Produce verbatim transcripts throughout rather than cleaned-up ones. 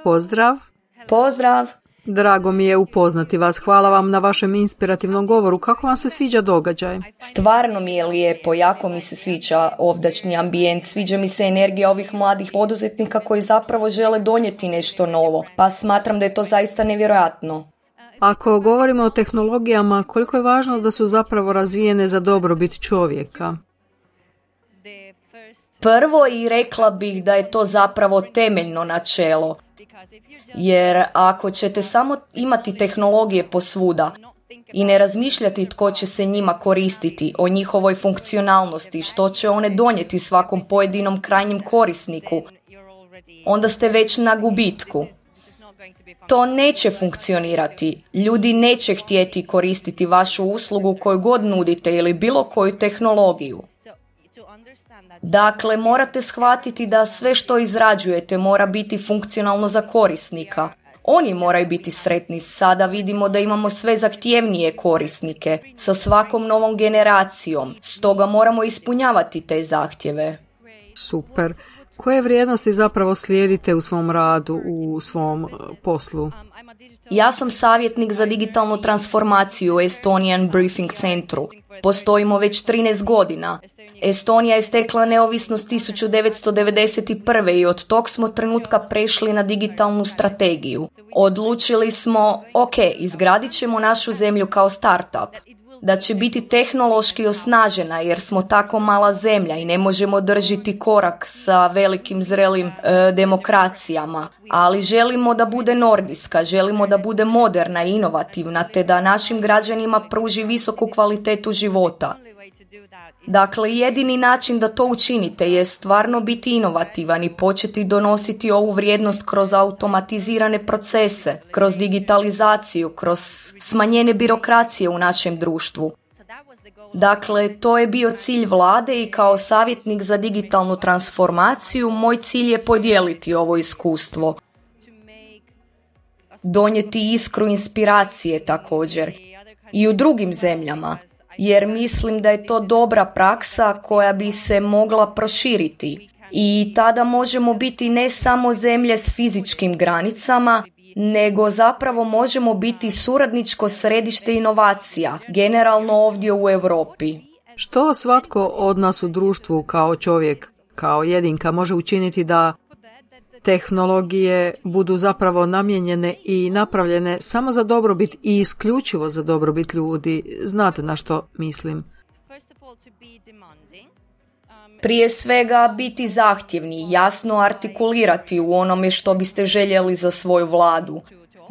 Pozdrav. Pozdrav. Drago mi je upoznati vas. Hvala vam na vašem inspirativnom govoru. Kako vam se sviđa događaj? Stvarno mi je lijepo, jako mi se sviđa ovdašnji ambijent, sviđa mi se energija ovih mladih poduzetnika koji zapravo žele donijeti nešto novo, pa smatram da je to zaista nevjerojatno. Ako govorimo o tehnologijama, koliko je važno da su zapravo razvijene za dobrobit čovjeka? Prvo i rekla bih da je to zapravo temeljno načelo. Jer ako ćete samo imati tehnologije posvuda i ne razmišljati tko će se njima koristiti, o njihovoj funkcionalnosti, što će one donijeti svakom pojedinom krajnjem korisniku, onda ste već na gubitku. To neće funkcionirati. Ljudi neće htjeti koristiti vašu uslugu koju god nudite ili bilo koju tehnologiju. Dakle, morate shvatiti da sve što izrađujete mora biti funkcionalno za korisnika. Oni moraju biti sretni. Sada vidimo da imamo sve zahtjevnije korisnike sa svakom novom generacijom. Stoga moramo ispunjavati te zahtjeve. Super. Koje vrijednosti zapravo slijedite u svom radu, u svom poslu? Ja sam savjetnik za digitalnu transformaciju u Estonian Briefing Centru. Postojimo već trinaest godina. Estonija je stekla neovisnost tisuću devetsto devedeset prve i od tog smo trenutka prešli na digitalnu strategiju. Odlučili smo, ok, izgradit ćemo našu zemlju kao startup, da će biti tehnološki osnažena jer smo tako mala zemlja i ne možemo držati korak sa velikim zrelim e, demokracijama, ali želimo da bude nordijska, želimo da bude moderna i inovativna te da našim građanima pruži visoku kvalitetu života. Dakle, jedini način da to učinite je stvarno biti inovativan i početi donositi ovu vrijednost kroz automatizirane procese, kroz digitalizaciju, kroz smanjenje birokracije u našem društvu. Dakle, to je bio cilj vlade i kao savjetnik za digitalnu transformaciju moj cilj je podijeliti ovo iskustvo. Donijeti iskru inspiracije također i u drugim zemljama. Jer mislim da je to dobra praksa koja bi se mogla proširiti. I tada možemo biti ne samo zemlje s fizičkim granicama, nego zapravo možemo biti suradničko središte inovacija, generalno ovdje u Europi. Što svatko od nas u društvu kao čovjek, kao jedinka može učiniti da tehnologije budu zapravo namijenjene i napravljene samo za dobrobit i isključivo za dobrobit ljudi? Znate na što mislim? Prije svega biti zahtjevni, jasno artikulirati u onome što biste željeli za svoju vladu.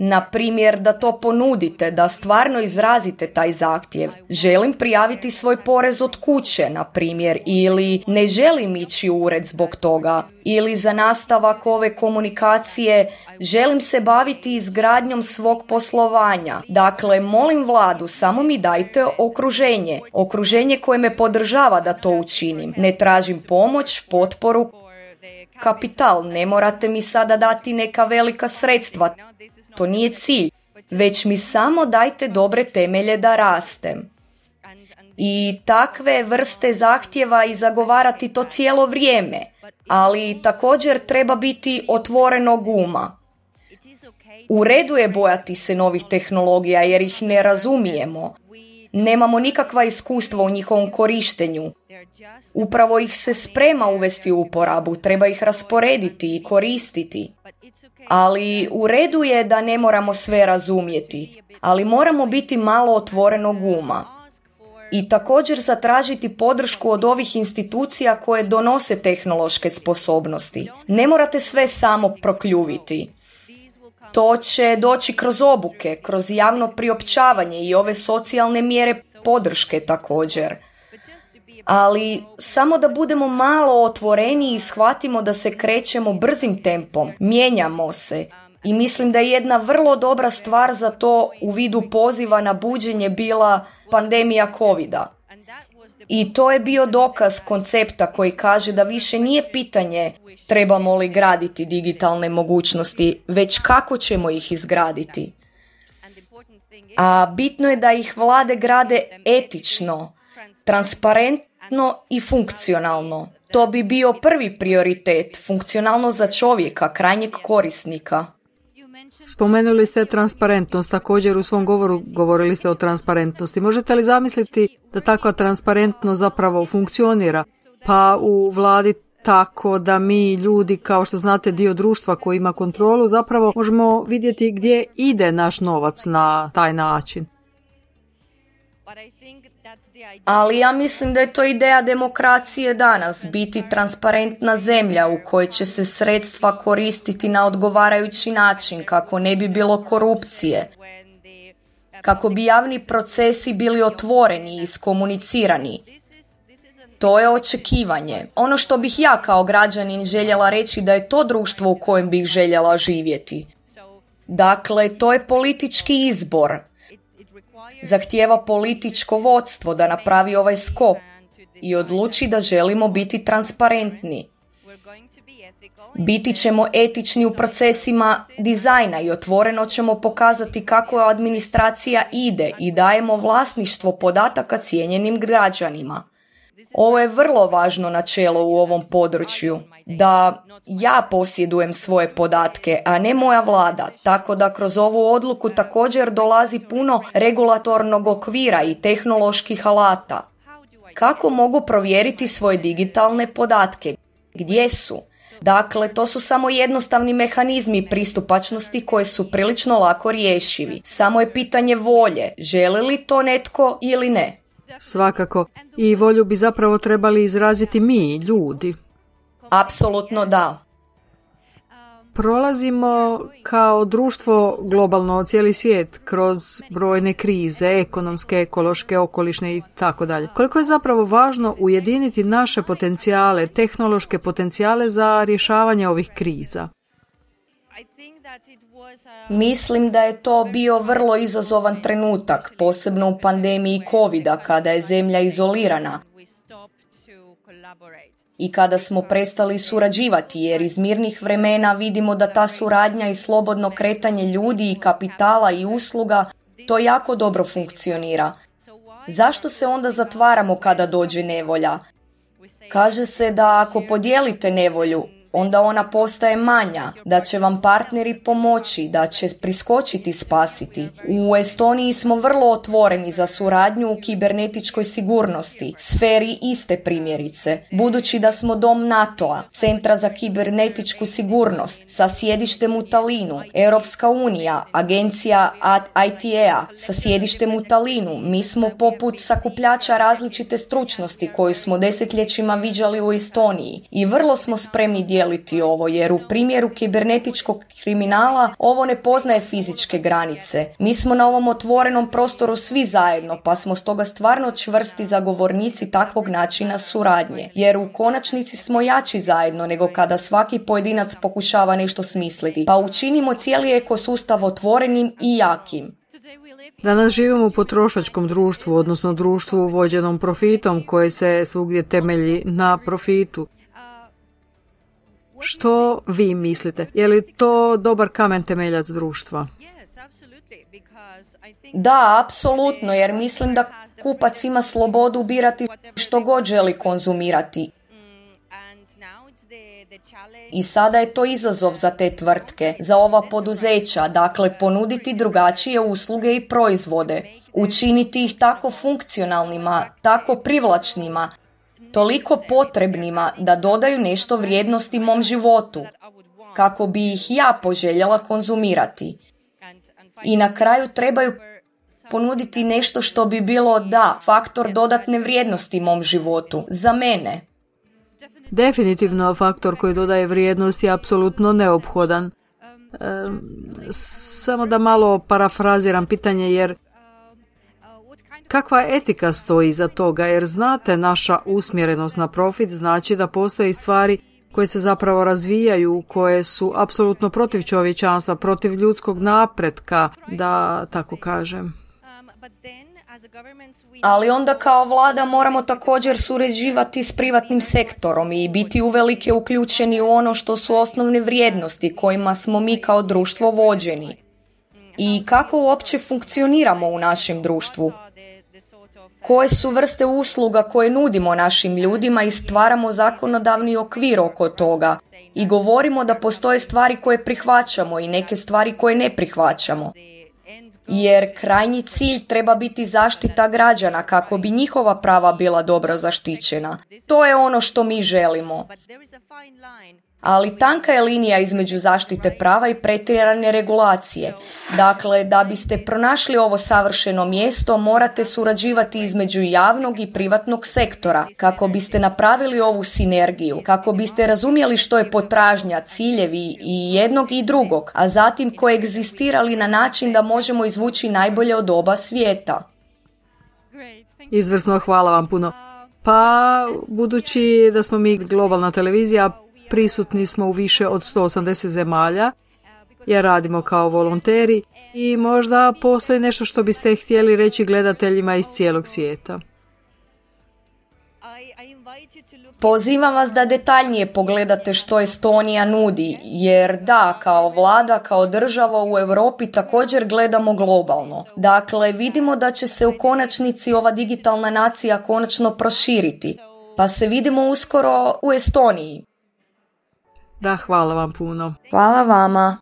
Na primjer, da to ponudite, da stvarno izrazite taj zahtjev. Želim prijaviti svoj porez od kuće, na primjer, ili ne želim ići u ured zbog toga. Ili za nastavak ove komunikacije želim se baviti izgradnjom svog poslovanja. Dakle, molim vladu, samo mi dajte okruženje. Okruženje koje me podržava da to učinim. Ne tražim pomoć, potporu, kapital. Ne morate mi sada dati neka velika sredstva. To nije cilj, već mi samo dajte dobre temelje da rastem. I takve vrste zahtjeva i zagovarati to cijelo vrijeme, ali također treba biti otvorenog uma. U redu je bojati se novih tehnologija jer ih ne razumijemo. Nemamo nikakva iskustva u njihovom korištenju. Upravo ih se sprema uvesti u uporabu, treba ih rasporediti i koristiti. Ali u redu je da ne moramo sve razumjeti, ali moramo biti malo otvorenog uma. I također zatražiti podršku od ovih institucija koje donose tehnološke sposobnosti. Ne morate sve samo prokljuviti. To će doći kroz obuke, kroz javno priopćavanje i ove socijalne mjere podrške također. Ali samo da budemo malo otvoreni i shvatimo da se krećemo brzim tempom, mijenjamo se. I mislim da je jedna vrlo dobra stvar za to u vidu poziva na buđenje bila pandemija kovida. I to je bio dokaz koncepta koji kaže da više nije pitanje trebamo li graditi digitalne mogućnosti, već kako ćemo ih izgraditi. A bitno je da ih vlade grade etično, transparentno i funkcionalno. To bi bio prvi prioritet, funkcionalno za čovjeka, krajnjeg korisnika. Spomenuli ste transparentnost, također u svom govoru govorili ste o transparentnosti. Možete li zamisliti da takva transparentnost zapravo funkcionira? Pa u vladi tako da mi ljudi, kao što znate, dio društva koji ima kontrolu, zapravo možemo vidjeti gdje ide naš novac na taj način. Ali ja mislim da je to ideja demokracije danas, biti transparentna zemlja u kojoj će se sredstva koristiti na odgovarajući način, kako ne bi bilo korupcije, kako bi javni procesi bili otvoreni i iskomunicirani. To je očekivanje. Ono što bih ja kao građanin željela reći da je to društvo u kojem bih željela živjeti. Dakle, to je politički izbor. Zahtijeva političko vodstvo da napravi ovaj skok i odluči da želimo biti transparentni. Biti ćemo etični u procesima dizajna i otvoreno ćemo pokazati kako administracija ide i dajemo vlasništvo podataka cijenjenim građanima. Ovo je vrlo važno načelo u ovom području, da ja posjedujem svoje podatke, a ne moja vlada, tako da kroz ovu odluku također dolazi puno regulatornog okvira i tehnoloških alata. Kako mogu provjeriti svoje digitalne podatke? Gdje su? Dakle, to su samo jednostavni mehanizmi pristupačnosti koji su prilično lako riješivi. Samo je pitanje volje, želi li to netko ili ne. Svakako. I volju bi zapravo trebali izraziti mi, ljudi. Apsolutno da. Prolazimo kao društvo globalno, cijeli svijet, kroz brojne krize, ekonomske, ekološke, okolišne i tako dalje. Koliko je zapravo važno ujediniti naše potencijale, tehnološke potencijale za rješavanje ovih kriza? Mislim da je to bio vrlo izazovan trenutak, posebno u pandemiji kovida, kada je zemlja izolirana i kada smo prestali surađivati, jer iz mirnih vremena vidimo da ta suradnja i slobodno kretanje ljudi i kapitala i usluga, to jako dobro funkcionira. Zašto se onda zatvaramo kada dođe nevolja? Kaže se da ako podijelite nevolju, onda ona postaje manja, da će vam partneri pomoći, da će priskočiti spasiti. U Estoniji smo vrlo otvoreni za suradnju u kibernetičkoj sigurnosti, sferi iste primjerice. Budući da smo dom NATO-a, Centra za kibernetičku sigurnost, sa sjedištem u Talinu, Europska unija, agencija I T A sa sjedištem u Talinu, mi smo poput sakupljača različite stručnosti koju smo desetljećima viđali u Estoniji i vrlo smo spremni dijeliti ovo, jer u primjeru kibernetičkog kriminala ovo ne poznaje fizičke granice. Mi smo na ovom otvorenom prostoru svi zajedno, pa smo stoga stvarno čvrsti zagovornici takvog načina suradnje, jer u konačnici smo jači zajedno nego kada svaki pojedinac pokušava nešto smisliti, pa učinimo cijeli ekosustav otvorenim i jakim. Danas živimo u potrošačkom društvu, odnosno društvu vođenom profitom koje se svugdje temelji na profitu. Što vi mislite? Je li to dobar kamen temeljac društva? Da, apsolutno, jer mislim da kupac ima slobodu birati što god želi konzumirati. I sada je to izazov za te tvrtke, za ova poduzeća, dakle ponuditi drugačije usluge i proizvode, učiniti ih tako funkcionalnima, tako privlačnima, toliko potrebnima da dodaju nešto vrijednosti mom životu, kako bi ih ja poželjela konzumirati. I na kraju trebaju ponuditi nešto što bi bilo, da, faktor dodatne vrijednosti mom životu, za mene. Definitivno faktor koji dodaje vrijednost je apsolutno neophodan. E, samo da malo parafraziram pitanje, jer kakva etika stoji iza toga, jer znate, naša usmjerenost na profit znači da postoje stvari koje se zapravo razvijaju, koje su apsolutno protiv čovječanstva, protiv ljudskog napretka, da tako kažem. Ali onda kao vlada moramo također surađivati s privatnim sektorom i biti uvelike uključeni u ono što su osnovne vrijednosti kojima smo mi kao društvo vođeni. I kako uopće funkcioniramo u našem društvu? koje su vrste usluga koje nudimo našim ljudima i stvaramo zakonodavni okvir oko toga. I govorimo da postoje stvari koje prihvaćamo i neke stvari koje ne prihvaćamo. Jer krajnji cilj treba biti zaštita građana kako bi njihova prava bila dobro zaštićena. To je ono što mi želimo. Ali tanka je linija između zaštite prava i pretjerane regulacije. Dakle, da biste pronašli ovo savršeno mjesto, morate surađivati između javnog i privatnog sektora, kako biste napravili ovu sinergiju, kako biste razumjeli što je potražnja, ciljevi i jednog i drugog, a zatim koegzistirali na način da možemo izvući najbolje od oba svijeta. Izvrsno, hvala vam puno. Pa, budući da smo mi globalna televizija, prisutni smo u više od sto osamdeset zemalja, jer radimo kao volonteri i možda postoji nešto što biste htjeli reći gledateljima iz cijelog svijeta. Pozivam vas da detaljnije pogledate što Estonija nudi, jer da, kao vlada, kao država u Europi također gledamo globalno. Dakle, vidimo da će se u konačnici ova digitalna nacija konačno proširiti, pa se vidimo uskoro u Estoniji. Da, hvala vam puno. Hvala vama.